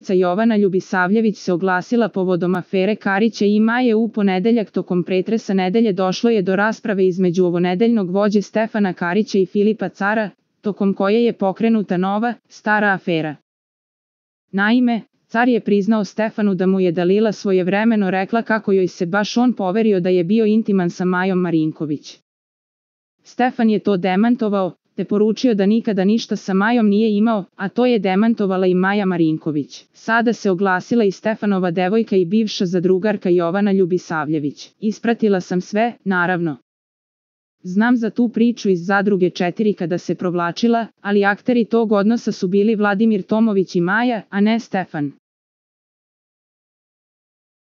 devojčica Jovana Ljubisavljević se oglasila povodom afere Karića i Maje. U ponedeljak tokom pretresa nedelje došlo je do rasprave između ovonedeljnog vođe Stefana Karića i Filipa Cara, tokom koje je pokrenuta nova, stara afera. Naime, Car je priznao Stefanu da mu je Dalila svojevremeno rekla kako joj se baš on poverio da je bio intiman sa Majom Marinković. Stefan je to demantovao, te poručio da nikada ništa sa Majom nije imao, a to je demantovala i Maja Marinković. Sada se oglasila i Stefanova devojka i bivša zadrugarka Jovana Ljubisavljević. Ispratila sam sve, naravno. Znam za tu priču iz Zadruge 4 kada se provlačila, ali akteri tog odnosa su bili Vladimir Tomović i Maja, a ne Stefan.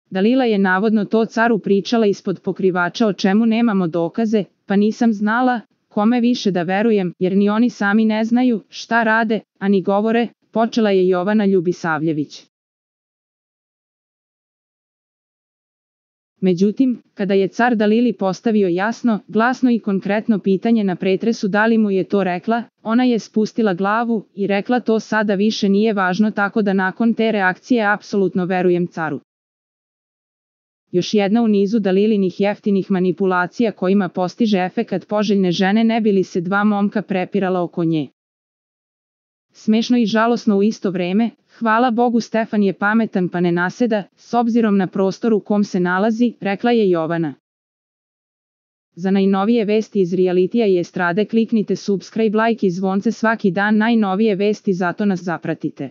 Dalila je navodno to Caru pričala ispod pokrivača o čemu nemamo dokaze, pa nisam znala kome više da verujem, jer ni oni sami ne znaju šta rade, a ni govore, počela je Jovana Ljubisavljević. Međutim, kada je Car Dalili postavio jasno, glasno i konkretno pitanje na pretresu da li mu je to rekla, ona je spustila glavu i rekla to sada više nije važno, tako da nakon te reakcije apsolutno verujem Caru. Još jedna u nizu Dalilinih jeftinih manipulacija kojima postiže efekat poželjne žene ne bi li se dva momka prepirala oko nje. Smešno i žalosno u isto vreme, hvala Bogu Stefan je pametan pa ne naseda, s obzirom na prostor u kom se nalazi, rekla je Jovana. Za najnovije vesti iz realitija i estrade kliknite subscribe, like i zvonce svaki dan, najnovije vesti, zato nas zapratite.